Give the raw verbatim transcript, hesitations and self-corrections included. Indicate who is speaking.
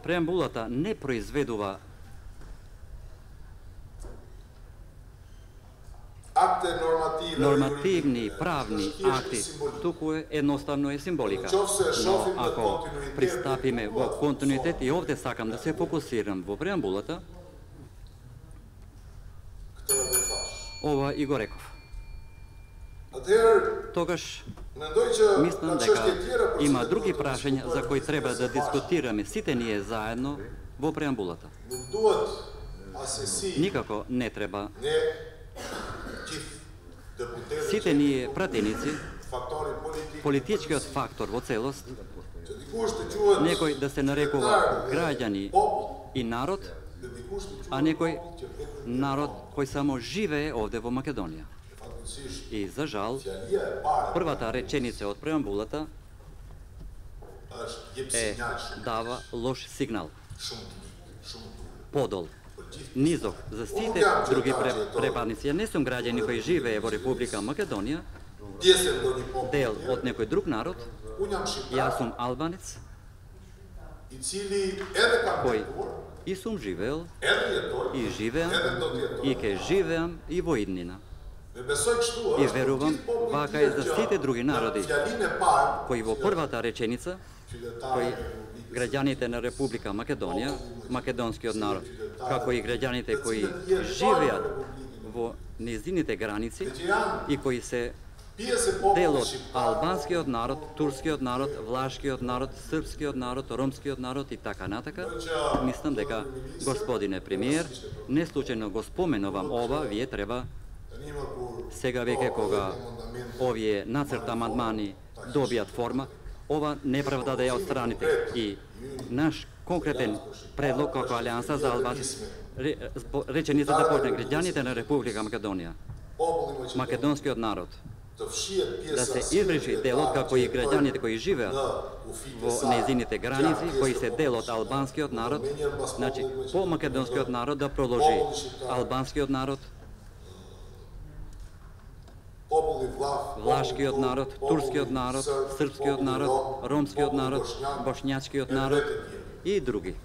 Speaker 1: Преамбулата не произведува нормативни правни акти, туку е едноставно е символика. Но ако пристапиме во континуитет, и овде сакам да се фокусирам во преамбулата, ова и го реков. Тогаш мислам дека има други прашања за кои треба да дискутираме сите ние заедно во преамбулата. Никако не треба сите ние пратеници, политичкиот фактор во целост, некој да се нарекува граѓани и народ, а некој народ кој само живее овде во Македонија. И за жал, првата реченица од преамбулата е дава лош сигнал. Подол, низок за сите други препадници. Не сум граѓани кои живее во Република Македонија, дел од некој друг народ. Јас сум албанец, кој и сум живеел, и живеам, и ке живеам и во иднина. И верувам, вака е за сите други народи, кои во првата реченица, кои граѓаните на Република Македонија, македонскиот народ, како и граѓаните кои живеат во незините граници и кои се дел од албанскиот народ, турскиот народ, влашкиот народ, српскиот народ, ромскиот народ и така натака, мислам дека, господине премиер, не случајно го споменувам ова, вие треба сега веќе кога овие нацрт амандмани добијат форма, ова неправда да ја отстраните. И наш конкретен предлог како Алијанса за Албанци, реченица да почне граѓаните на Република Македонија, македонскиот народ, да се избриши делот како и граѓаните кои живеат во незините граници, кои се дел од албанскиот народ, значи по македонскиот народ да продолжи албанскиот народ, влашкиот народ, турскиот народ, српскиот народ, ромскиот народ, бошњачкиот народ и други.